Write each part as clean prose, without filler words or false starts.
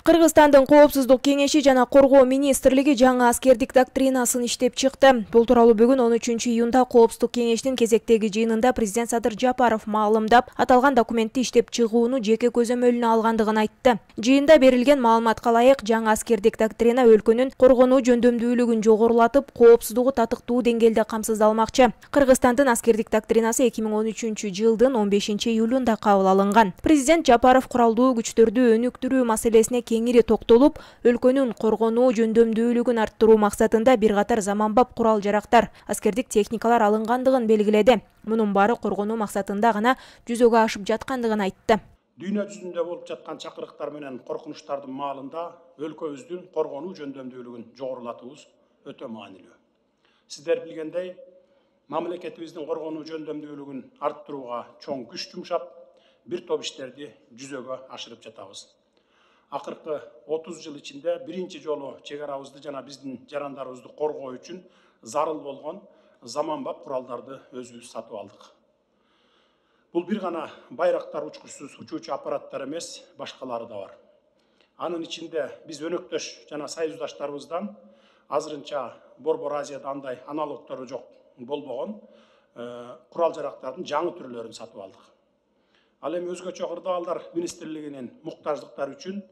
Кыргызстандын Коопсуздук кеңеши жана Коргоо министрлиги жаңы аскердик доктринасын иштеп чыкты. Бул тууралуу бүгүн 13 июнда Коопсуздук кеңештин кезектеги жыйынында президент Садыр Жапаров маалымдап, аталган документти иштеп чыгууну жеке көзөмөлүнө алгандыгын айтты. Жыйында берилген маалыматка ылайык, жаңы аскердик доктрина өлкөнүн коргонуу жөндөмдүүлүгүн жогорулатып, коопсуздугу татыктуу деңгээлде камсыздалмакчы. Кыргызстандын аскердик доктринасы 2013 жылдын 15 июлунда кабыл алынган. Президент Жапаров куралдуу күчтөрдү өнүктүрүү маселесине кеңири токтолуп, өлкөнүн коргонуу жөндөмдүүлүгүн арттыруу максатында бир катар заманбап курал-жарактар, аскердик техникалар алынгандыгын белгиледи. Мунун баары коргонуу максатында гана жүзөгө ашып жаткандыгын айтты. Дүйнө жүзүндө болуп жаткан чакырыктар менен коркунучтардын маалында өлкөбүздүн коргонуу жөндөмдүүлүгүн жогорулатуубуз өтө маанилүү. Сиздер билгендей, мамлекетибиздин коргонуу жөндөмдүүлүгүн арттырууга чоң күч жумшап, бир топ иштерди жүзөгө ашырып жатабыз. Акыркы 30 жыл ичинде биринчи жолу чек арабызды жана биздин жарандарыбызды коргоо үчүн зарыл болгон заманбап куралдарды өзүбүз сатып алдык. Бул бир гана байрактар учкучсуз учуучу аппараттар эмес, башкалары да бар. Анын ичинде биз өнөктөш жана союздаштарыбыздан азырынча Борбор Азияда андай аналогтору жок болбогон курал-жарактардын жаңы түрлөрүн сатып алдык. Ал эми өзгөчө кырдаалдар министрлигинин муктаждыктары үчүн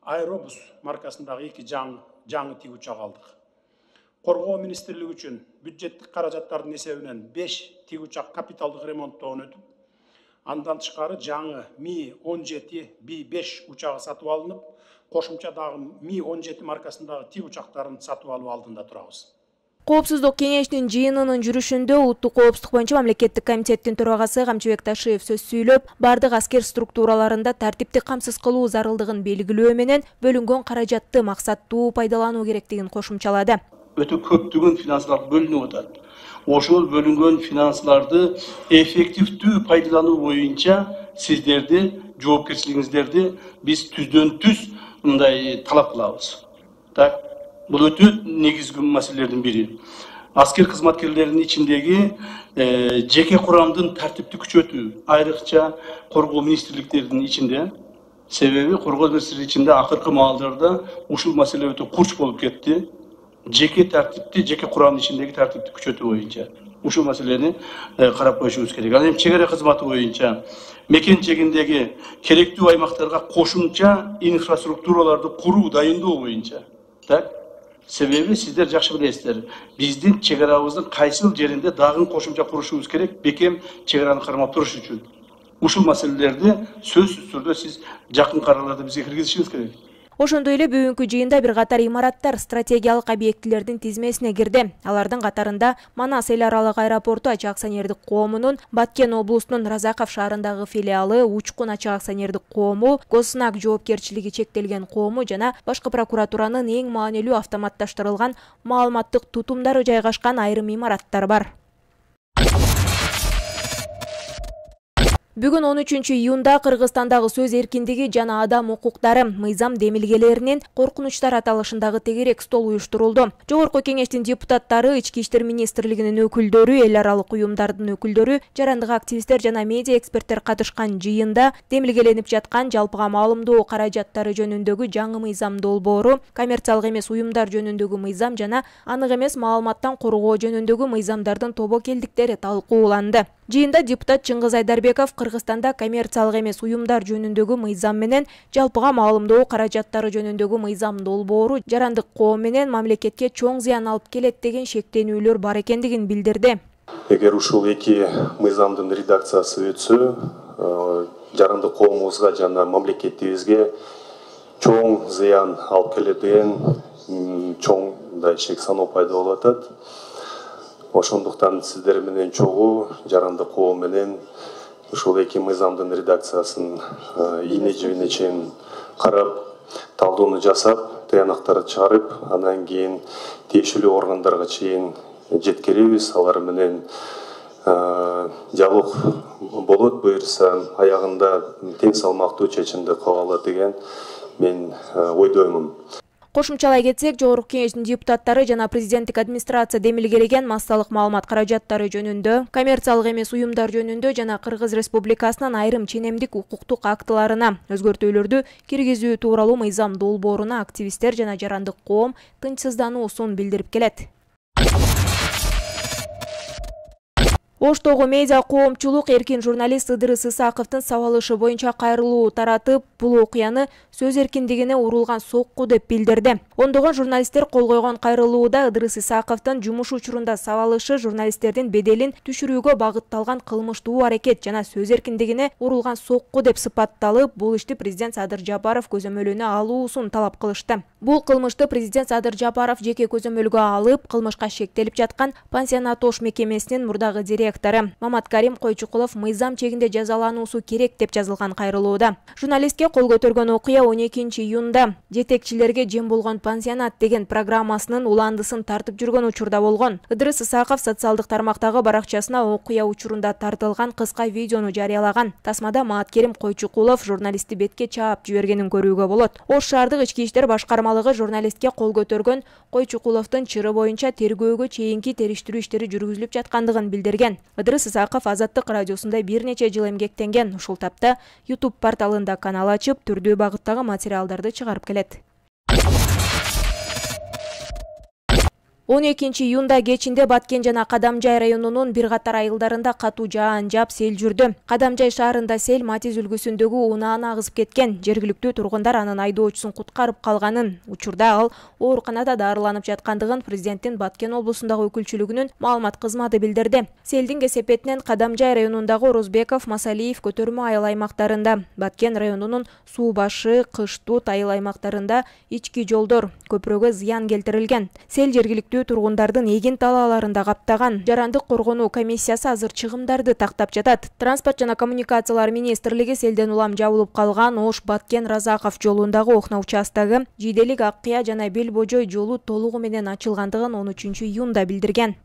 Аэробус маркасындагы 2 жаңы тик учак алдык. Коргоо министрлиги үчүн бюджеттик каражаттардын эсебинен 5 тик учак капиталдык ремонттоон өтүп, андан тышкары жаңы Ми-17 Би-5 учагы сатып алынып, кошумча дагы Ми-17 маркасындагы тик учактарын сатып алуу алдында турабыз. Коопсуздук кеңештин жыйынынын жүрүшүндө Улуттук коопсуздук боюнча мамлекеттик комитеттин төрагасы Камчыбек Ташиев сөз сүйлөп, бардык аскер структураларында тартипти камсыз кылуу зарылдыгын белгилөө менен бөлүнгөн каражатты максаттуу пайдалануу керектигин кошумчалады. Өтө көптөгөн финансылар бөлүнүп атат. Ошол бөлүнгөн финансыларды эффективдүү пайдалануу боюнча сиздерди, жоопкерчилигиңиздерди биз түздөн-түз мындай талап кылабыз. Так, бул өтө негизги маселелердин бири. Аскер кызматкерлеринин ичиндеги жеке курамдын тартипти күчөтүү, айрыкча коргоо министрликтеринин ичинде. Себеби коргоо министрлиги ичинде акыркы маалдарда ушул маселе өтө курч болуп кетти. Жеке тартипти, жеке курамдын ичиндеги тартипти күчөтүү боюнча ушул маселени карап коюшубуз керек. Ал эми чек ара кызматы боюнча мекен чегиндеги керектүү аймактарга кошумча инфраструктураларды куруу, дайындоо боюнча. Так? Себеби сиздер жакшы билесиздер, биздин чек арабыздын кайсыл жеринде дагы кошумча курушубуз керек, бекем чек араны кармап туруш үчүн. Ушул маселелерди сөзсүз түрдө сиз жакынкы араларда бизге киргизишиңиз керек. Ошондой эле бүгүнкү жыйында бир катар имараттар стратегиялык объектилердин тизмесине кирди. Алардын катарында Манас эл аралык аэропорту ачык акционердик коомунун Баткен облусунун Разаков шаарындагы филиалы, Учкун ачык акционердик коому, Госнак жоопкерчилиги чектелген коому жана башкы прокуратуранын эң маанилүү автоматташтырылган маалыматтык тутумдары жайгашкан айрым имараттар бар. Бүгүн 13 июнда Кыргызстандагы сөз эркиндиги жана адам укуктары мыйзам демилгелеринин коркунучтар аталышындагы тегерек стол уюштурулду. Жогорку кеңештин депутаттары, Ички иштер министрлигинин өкүлдөрү, эл аралык уюмдардын өкүлдөрү, жарандык активисттер жана медиа эксперттер катышкан жыйында демилгеленип жаткан жалпыга маалымдоо каражаттары жөнүндөгү жаңы мыйзам долбоору, коммерциялык эмес уюмдар жөнүндөгү мыйзам жана анык эмес маалыматтан коргоо жөнүндөгү мыйзамдардын тобокелдиктери талкууланды. Жыйында депутат Чыңгыз Айдарбеков Кыргызстанда коммерциялык эмес уюмдар жөнүндөгү мыйзам менен жалпыга маалымдоо каражаттары жөнүндөгү мыйзам долбоору жарандык коом менен мамлекетке чоң зыян алып келет деген шектенүүлөр бар экендигин билдирди. Эгер ушул эки мыйзамдын редакциясы өтсө, жарандык коомубузга жана мамлекетибизге чоң зыян алып келет деген чоң шек саноо пайда болуп атат. Ошондуктан сиздер менен чогуу жарандык коом менен ушул эки мыйзамдын редакциясын ийне жибине чейин карап, талдоону жасап, таянактарды чыгарып, андан кийин тиешелүү органдарга чейин жеткиребиз. Алар менен диалог болот, буюрса аягында тең салмактуу чечимди кабыл алат деген мен ойдоймун. Кошумчалай кетсек, Жогорку Кеңештин депутаттары жана президенттик администрация демилгелеген массалык маалымат каражаттары жөнүндө, коммерциялык эмес уюмдар жөнүндө жана Кыргыз Республикасынын айрым ченемдик укуктук актыларына өзгөртүүлөрдү киргизүү тууралуу мыйзам долбооруна активисттер жана жарандык коом тынчсыздануусун билдирип келет. Оштогу медиа коомчулук эркин журналист Ыдырыс Исаковдун сабалышы боюнча кайрылуу таратып, бул окуяны сөз эркиндигине урулган сокку деп билдирди. Ондогон журналисттер кол койгон кайрылууда Ыдырыс Исаковдун жумуш учурунда сабалышы журналисттердин беделин түшүрүүгө багытталган кылмыштуу аракет жана сөз эркиндигине урулган сокку деп сыпатталып, бул ишти президент Садыр Жапаров көзөмөлүнө алуусун талап кылышты. Бул кылмышты президент Садыр Жапаров жеке көзөмөлгө алып, кылмышка шектелип жаткан пансионат Ош мекемесинин мурдагы директору Мамат Карим Койчукулов мыйзам чегинде жазалануусу керек деп жазылган кайрылууда. Журналистке кол көтөргөн окуя 12 июнда жетекчилерге жем болгон пансионат деген программасынын уландысын тартып жүргөн учурда болгон. Ыдырыс Исаков социалдык тармактагы баракчасына окуя учурунда тартылган кыска видеону жарыялаган. Тасмада Мамат Карим Койчукулов журналистти бетке чаап жибергенин көрүүгө болот. Ош шаардык ички иштер башкармалыгы журналистке кол көтөргөн Койчукуловдун чыры боюнча тергөөгө чейинки териштирүү иштери жүргүзүлүп жаткандыгын билдирген. Ыдырыс Исаков Азаттык радиосунда бир нече жыл эмгектенген. Ушул тапта YouTube порталында канал ачып, түрдүү багыттагы материалдарды чыгарып келет. 12 июнда кечинде Баткен жана Кадамжай районунун бир катар айылдарында катуу жаан жаап сел жүрдү. Кадамжай шаарында сел Матиз үлгүсүндөгү унааны агызып кеткен. Жергиликтүү тургундар анын айдоочусун куткарып калганын, учурда ал ооруканада дарыланып жаткандыгын президенттин Баткен облусундагы өкүлчүлүгүнүн маалымат кызматы билдирди. Селдин кесепетинен Кадамжай районундагы Орозбеков, Масалиев көтөрмө айыл аймактарында, Баткен районунун Суу башы, Кыштут айыл аймактарында ички жолдор, көпүрөгө зыян келтирилген. Сел жергиликтүү тургундардын эгин талааларында каптаган. Жарандык коргонуу комиссиясы азыр чыгымдарды тактап жатат. Транспорт жана коммуникациялар министрлиги селден улам жабылып калган Ош Баткен Разаков жолундагы окна участогу Жиделик Аккыя жана Бел Божой жолу толугу менен ачылгандыгын 13 июнда билдирген.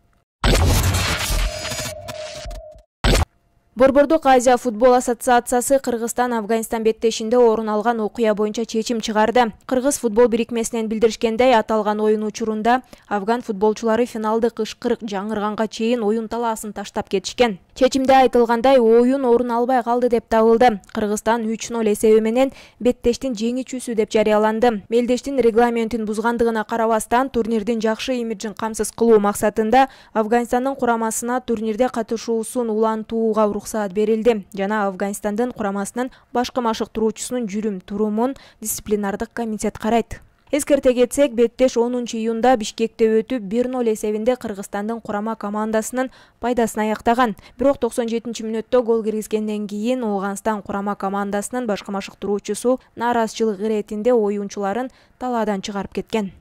Борбордук Азия футбол ассоциациясы Кыргызстан-Афганистан беттешинде орун алган окуя боюнча чечим чыгарды. Кыргыз футбол бирикмесинен билдиришкендей, аталган оюн учурунда афган футболчулары финалдык ышкырык жаңырганга чейин оюн талаасын таштап кетишкен. Чечимде айтылгандай, оюн орун албай калды деп табылды. Кыргызстан 3-0 эсеби менен беттештин жеңүүчүсү деп жарыяланды. Мелдештин регламентин бузгандыгына карабастан, турнирдин жакшы имиджин камсыз кылуу максатында Афганистандын курамасына турнирде катышуусун улантууга уруксаат берилди жана Афганистандын курамасынын башкы машыктыруучусунун жүрүм-турумун дисциплинардык комитет карайт. Эскерте кетсек, беттеш 10 июнда Бишкекте өтүп 1-0 эсебинде Кыргызстандын курама командасынын пайдасына аяктаган. Бирок 97-мүнөттө гол киргизгенден кийин Ооганстан курама командасынын башкы машыктыруучусу нааразычылык иретинде оюнчуларын талаадан чыгарып кеткен.